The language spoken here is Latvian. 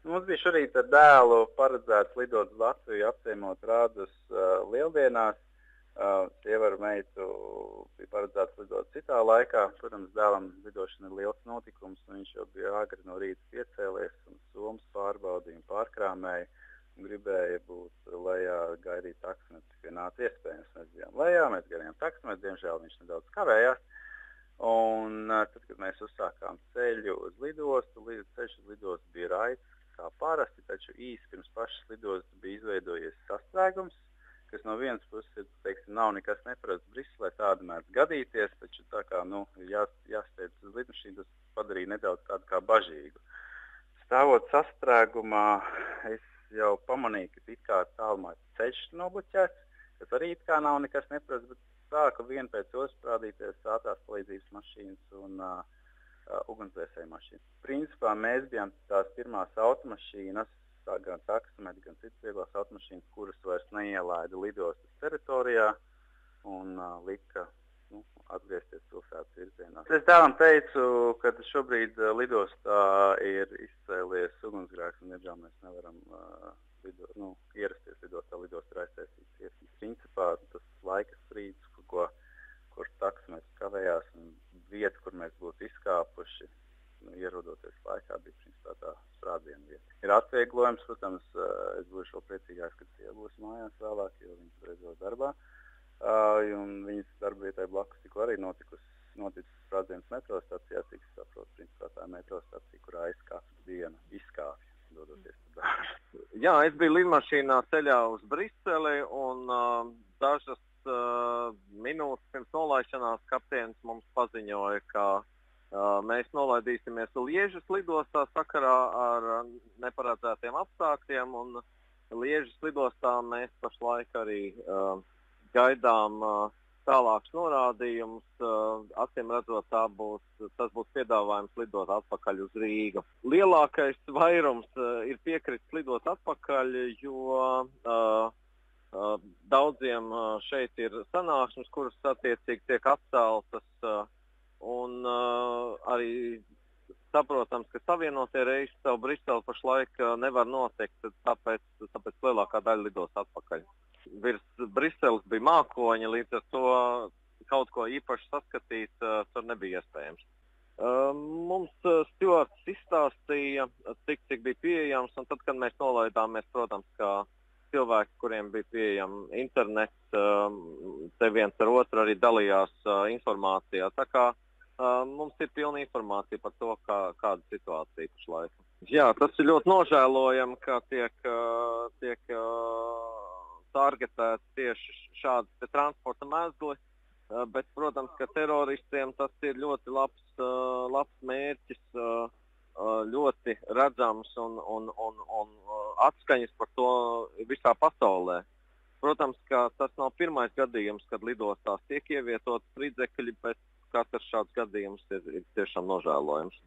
Mums bija šorīt ar dēlu paredzēts lidot uz Latviju, apciemot rādus lieldienās. Sieva ar meitu bija paredzēts lidot citā laikā. Protams, dēlam lidošana ir liels notikums, un viņš jau bija agri no rīta piecēlies un somas pārbaudīja un pārkrāmēja. Un gribēja būt lejā, gaidīt taksimetru, cik vien nāca iespējams. Mēs bijām lejā, mēs gaidījām taksimetru, diemžēl viņš nedaudz kavējās. Un tad, kad mēs uzsākām ceļu uz lidostu, ceļš uz lidostu bija raids kā parasti, taču īsi pirms pašas lidostas bija izveidojies sastrēgums, kas no vienas puses, teiksim, nav nekas neparasts Briselē, tāda mēdz gadīties, taču tā kā, jāsteidz uz lidmašīnu, tas padarīja nedaudz tādu kā bažīgu. Stāvot sastrēgumā, es jau pamanīju, ka it kā tālumā ceļš nobloķēts, kas arī it kā nav nekas neparasts, bet sāka vien pēc otras parādīties ātrās palīdzības mašīnas un ugunsdzēsēju mašīnas. Principā mēs bijām tās pirmās automašīnas, gan taksimetri, gan citas vieglās automašīnas, kuras vairs neielaida lidostas teritorijā un lika atgriezties pilsētas virzienā. Es dēlam teicu, ka šobrīd lidostā ir izcēlies ugunsgrēks un, diemžēl, mēs nevaram ierasties lidostā. Lidosta ir aiztaisījusies. Principā tas laika strīds, kur taksimetrs kavējās un vieta, kur mēs būtu izkāpuši, ierodoties laikā, bija principā tā sprādziena vieta. Ir atvieglojums, protams, es būšu vēl priecīgāks, kad sieva būs mājās vēlāk, jo viņas beidzot darbā. Un viņas darba vietai blakus tikko arī noticis sprādzienas metro stacijā, cik es saprotu, principā tā metro stacija, kurā es katru dienu izkāpju, dodoties pa darbu. Jā, es biju lidmašīnā ceļā uz Briseli un dažas minūtes pirms nolaišanās kapteinis mums paziņoja, ka mēs nolaidīsimies Liežas lidostā sakarā ar neparedzētiem apstākļiem, un Liežas lidostā mēs pašlaik arī gaidām tālākus norādījumus. Acīm redzot, tas būs piedāvājums lidot atpakaļ uz Rīgu. Lielākais vairums ir piekritis lidot atpakaļ, jo daudziem šeit ir sanāksmes, kuras attiecīgi tiek atceltas, un arī saprotams, ka savienotie reisi savu Briseli pašlaik nevar notikt, tāpēc lielākā daļa lidos atpakaļ. Virs Briseles bija mākoņi, līdz ar to kaut ko īpaši saskatīt tur nebija iespējams. Mums stjuards izstāstīja, cik bija pieejams, un tad, kad mēs nolaidāmies, protams, kā cilvēki, kuriem bija pieejama internets, te viens ar otru arī dalījās informācijā. Tā kā mums ir pilna informācija par to, kāda situācija pašlaik. Jā, tas ir ļoti nožēlojami, ka tiek targetēts tieši šādi transporta mezgli, bet, protams, ka teroristiem tas ir ļoti labs mērķis, ļoti redzams un atskaņas par to visā pasaulē. Protams, ka tas nav pirmais gadījums, kad lidostās tiek ievietotas spridzekļi, bet katrs šāds gadījums ir tiešām nožēlojams.